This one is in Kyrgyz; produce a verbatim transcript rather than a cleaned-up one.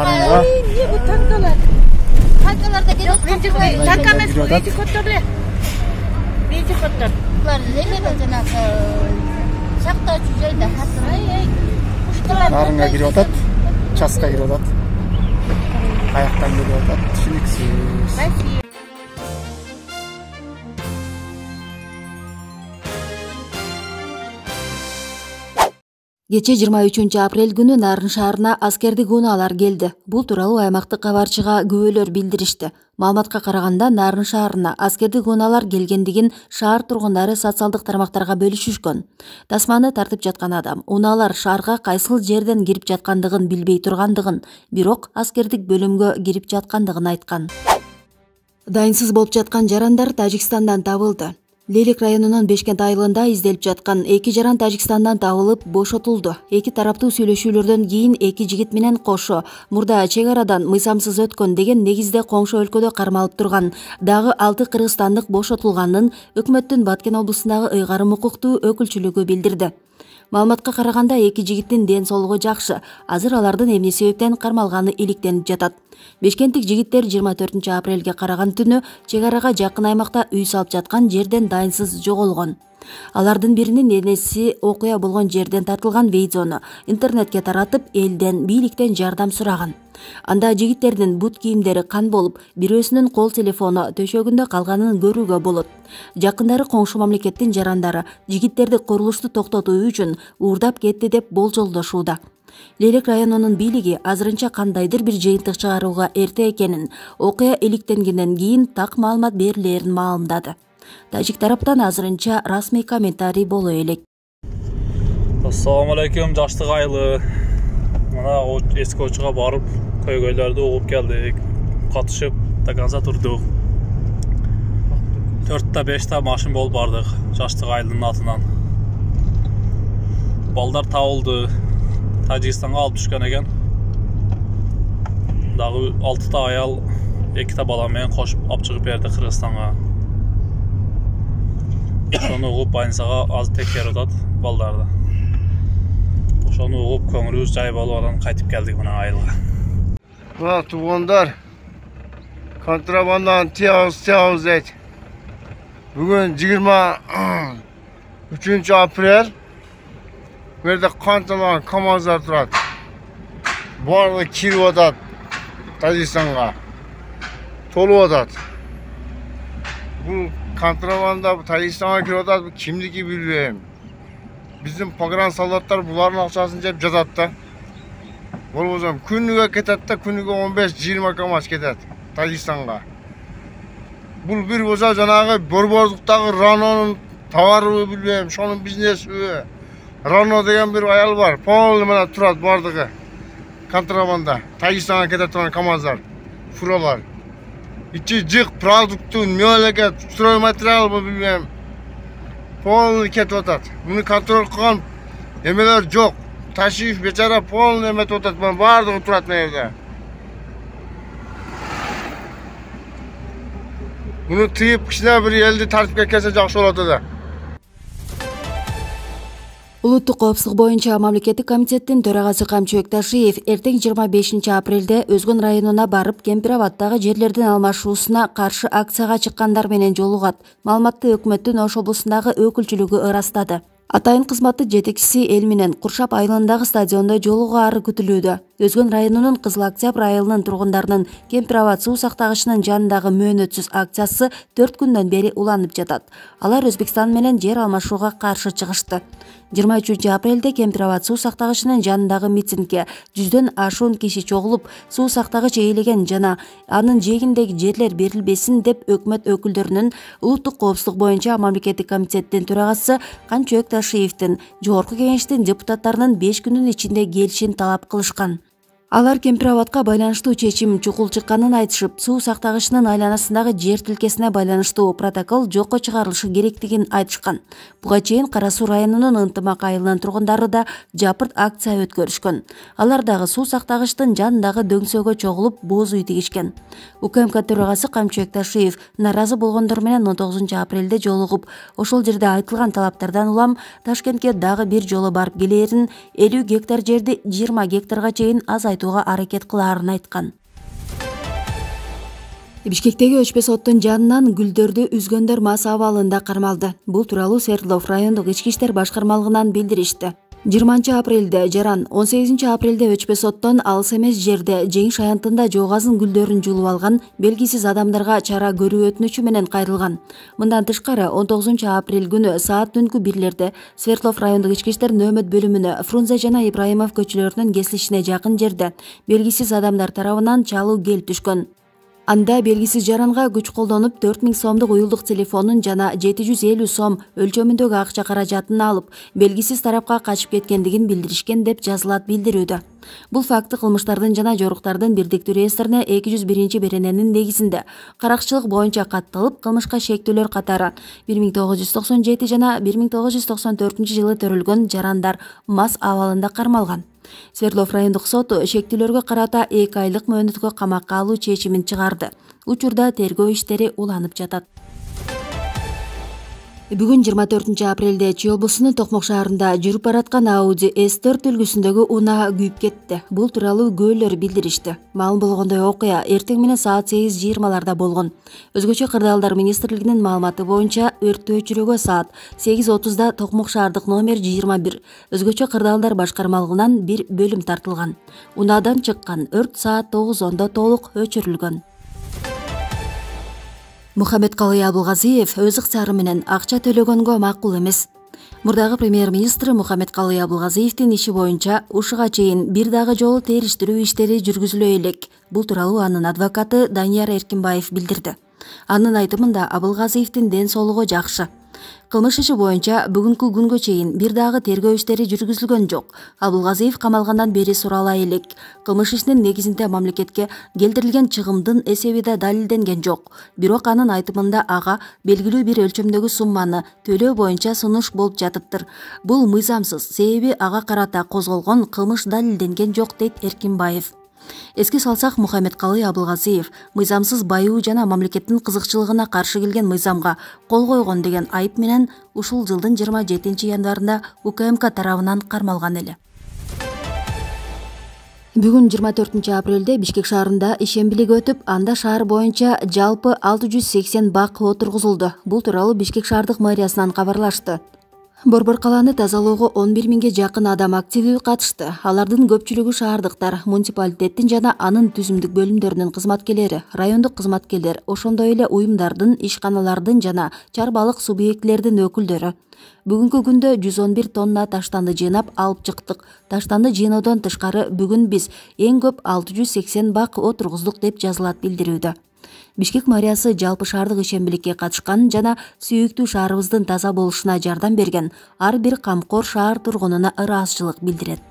нарынга. Эмне бу танкалар? Танкаларда келет. Танка эмес, вездеходдор. Вездеходдор. Булар неме жанагы сактоочу жерде хатыр. Нарынга кирип атат, часка кирип атат. Каяктан кирип атат, түшүнүксүз. Кече жыйырма үчүнчү апрель күнү Нарын шаарына аскердик унаалар келди. Бул тууралуу аймактык кабарчыга күбөлөр билдиришти. Маалыматка караганда Нарын шаарына аскердик унаалар келгендигин шаар тургундары социалдык тармактарга бөлүшүшкөн. Тасманы тартып жаткан адам унаалар шаарга кайсыл жерден кирип жаткандыгын билбей тургандыгын, бирок аскердик бөлүмгө кирип жаткандыгын айткан. Дайынсыз болуп жаткан жарандар Тажикстандан табылды. Лелек районунун Бешкент айылында изделип жаткан эки жаран Тажикстандан табылып бошотулду. Эки тараптуу сүйлөшүүлөрдөн кийин эки жигит менен кошо мурда чек арадан мыйзамсыз өткөн деген негизде коңшу өлкөдө кармалып турган дагы алты кыргызстандык бошотулганын өкмөттүн Баткен облусундагы ыйгарым укуктуу өкүлчүлүгү билдирди. Маалыматка караганда эки жигиттин ден соолугу жакшы. Азыр алардын эмне себептен кармалганы иликтенип жатат. Бешкенттик жигиттер жыйырма төртүнчү апрелге караган түнү чек арага жакын аймакта үй салып жаткан жерден дайынсыз жоголгон. Алардын биринин энеси окуя болгон жерден тартылган видеону интернетке таратып, элден, бийликтен жардам сураган. Анда жигиттердин бут кийимдери кан болуп, бирөөсүнүн кол телефону төшөгүндө калганын көрүүгө болот. Жакындары коңшу мамлекеттин жарандары жигиттерди курулушту токтотуу үчүн уурдап кетти деп болжолдошууда. Лелек районунун бийлиги азырынча кандайдыр бир жыйынтык чыгарууга эрте экенин, окуя иликтенгенден кийин так маалымат берилерин маалымдады. Тажик тараптан азырынча расмий комментарий боло элек. Ассаламу алейкум, жаштык айылы. Мына эски очуга барып, көйгөйлөрдү угуп келдик. Катышып, до конца турдук. төрттө бештө машин болуп бардык, жаштык айылдын атынан. Балдар табылды. Тажикстанга алып түшкөн экен. Дагы алтыта аял, эките бала менен кошуп алып чыгып берди Кыргызстанга. Ошону угуп больницага азыр текшерип атат балдарды. Ошону угуп көңүлүбүз жай болуп анан кайтып келдик мына айылга. Мына туугандар, контрабанданын тиябыз тиябыз дейт. Бүгүн жыйырма үчүнчү апрель. Bu yerде канталган КамАЗдар турат. Барлыгы кирип атат Тажикстанга. Толуп атат. Бул контрабанда Тажикстанга кирип атат, бул кимдики билбейм. Биздин погран солдаттар булардын акчасын жеп жатат да. Болбосо күнүгө кетет да, күнүгө он беш жыйырма КамАЗ кетет Тажикстанга. Бул бир болсо жанагы борбордуктагы Ранонун товарыбы билбейм, ошонун бизнесиби. Рано деген bir аял бар, полный мына турат бардыгы. Контрабанда, Тажикстанга кетет турган КамАЗдар, фуралар. Ичи жык продуктун, мөлекет, стройматериалбы билбейм. Полный кетип атат. Муну контроль кылган эмелер жок. Ташиев бечара полный эметип атат, бардыгы турат мына жерде. Муну тыйып кичине бир элди тартипке келсе жакшы болот да. Улуттук коопсуздук боюнча мамлекеттик комитеттин төрагасы Камчыбек Ташиев эртең жыйырма бешинчи апрелде Өзгөн районуна барып, Кемпир-Абаддагы жерлердин алмашуусуна каршы акцияга чыккандар менен жолугат. Маалыматты өкмөттүн Ош облусундагы өкүлчүлүгү ырастады. Атайын кызматтын жетекчиси эл менен Куршап айылындагы стадиондо жолугаары күтүлүүдө. Өзгөн районунун Кызыл Октябрь айылынын тургундарынын Кемпир-Абад суу сактагычынын жанындагы мөөнөтсүз акциясы төрт күндөн бери уланып жатат. Алар Өзбекстан менен жер алмашууга каршы чыгышты. жыйырма үчүнчү апрелде Кемпир-Абад суу сактагычынын жанындагы митингге жүздөн ашуун киши чогулуп, суу сактагыч ээлеген жана анын жээгиндеги жерлер берилбесин деп өкмөт өкүлдөрүнүн улуттук коопсуздук боюнча мамлекеттик комитеттин төрагасы Камчыбек Ташиевдин жогорку кеңештин депутаттарынын беш күнүн ичинде келишин талап кылышкан. Алар Кемпир-Абадка байланыштуу чечим чукул чыкканын айтышып, суу сактагычынын айланасындагы жер тилкесине байланыштуу протокол жокко чыгарылышы керектигин айтышкан. Буга чейин Кара Суу районунун Ынтымак айылынын тургундары да жапырт акция өткөрүшкөн. Алар дагы суу сактагычтын жанындагы дөңсөөгө чогулуп бооз үй тигишкен. УКМК төрагасы Камчыбек Ташиев нааразы болгондор менен он тогузунчу апрелде жолугуп, ошол жерде айтылган талаптардан улам Ташкентке дагы бир жолу барып келээрин, элүү гектар жерди жыйырма гектарга чейин азайтып айтууга аракет кылаарын айткан. Бишкектеги өчпөс оттун жанынан гүлдөрдү үзгөндөр мас абалында кармалды. Бул тууралуу Свердлов райондук ички иштер башкармалыгынан билдиришти. жыйырманчы апрелде жаран, он сегизинчи апрелде өчпөс оттон алыс эмес жерде жеңиш аянтында жоогазын гүлдөрүн жулуп алган белгисиз адамдарга чара көрүү өтүнүчү менен кайрылган. Мындан тышкары он тогузунчу апрель күнү саат түнкү бирлерде Свердлов райондук ички иштер нөөмөт бөлүмүнө Фрунзе жана Ибраимов көчөлөрүнүн кесилишине жакын жерде белгисиз адамдар тарабынан чалуу келип түшкөн. Анда белгисиз жаранга күч колдонуп төрт миң сомдук уюлдук телефонун жана жети жүз элүү сом өлчөмүндөгү акча каражатын алып, белгисиз тарапка качып кеткендигин билдиришкен деп жазылат билдирүүдө. Бул факты кылмыштардын жана жоруктардын бирдиктүү реестрине эки жүз биринчи берененин негизинде каракчылык боюнча катталып, кылмышка шектүүлөр катары бир миң тогуз жүз токсон жети жана бир миң тогуз жүз токсон төртүнчү жылы төрөлгөн жарандар мас абалында кармалган. Свердлов райондук соту шектүүлөргө карата эки айлык мөөнөткө камакка алуу чечимин чыгарды. Учурда тергөө иштери уланып жатат. Бүгүн жыйырма төртүнчү апрелде Чүй облусунун Токмок шаарында жүрүп бараткан Audi эс төрт үлгүсүндөгү унаа күйүп кетти. Бул тууралуу күбөлөр билдиришти. Маалым болгондой окуя эртең менен саат сегиз жыйырмаларда болгон. Өзгөчө кырдаалдар министрлигинин маалыматы боюнча өрттү өчүрүүгө саат сегиз отузда Токмок шаардык номер жыйырма бир өзгөчө кырдаалдар башкармалыгынан бир бөлүм тартылган. Унаадан чыккан өрт саат тогуз ондо толук өчүрүлгөн. Мухаммедкалый Абылгазиев өз ыкчары менен акча төлөгөнгө макул эмес. Мурдагы премьер-министр Мухаммедкалый Абылгазиевдин иши боюнча ушуга чейин бир дагы жолу териштирүү иштери жүргүзүлө элек. Бул тууралуу анын адвокаты Данияр Эркинбаев билдирди. Анын айтымында Абылгазиевдин ден соолугу жакшы. Кылмыш иши боюнча бүгүнкү күнгө чейин бир дагы тергөө иштери жүргүзүлгөн жок. Абылгазиев камалгандан бери сурала элек. Кылмыш ишинин негизинде мамлекетке келтирилген чыгымдын эсеби да далилденген жок. Бирок анын айтымында ага белгилүү бир өлчөмдөгү сумманы төлөө боюнча сунуш болуп жатыптыр. Бул мыйзамсыз, себеби ага карата козголгон кылмыш далилденген жок, дейт Эркинбаев. Эске салсак, Мухаммедкалый Абылгазиев мыйзамсыз байуу жана мамлекеттин кызыкчылыгына каршы келген мыйзамга кол койгон деген айып менен ушул жылдын жыйырма жетинчи январында У К М К тарабынан кармалган эле. Бүгүн жыйырма төртүнчү апрелде Бишкек шаарында ишембилик өтүп, анда шаар боюнча жалпы алты жүз сексен бак отургузулду. Бул тууралуу Бишкек шаардык мэриясынан кабарлашты. Борбор калааны тазалоого он бир миңге жакын адам активдүү катышты. Алардын көпчүлүгү шаардыктар, муниципалитеттин жана анын түзүмдүк бөлүмдөрүнүн кызматкерлери, райондук кызматкерлер, ошондой эле уюмдардын, ишканалардын жана чарбалык субъектилердин өкүлдөрү. Бүгүнкү күндө жүз он бир тонна таштанды жыйнап алып чыктык. Таштанды жыйноодон тышкары бүгүн биз эң көп алты жүз сексен бак отургуздук деп жазылат билдирүүдө. Бишкек мэриясы жалпы шаардык ишембиликке катышкан жана сүйүктүү шаарыбыздын таза болушуна жардам берген ар бир камкор шаар тургунуна ыраазычылык билдирет.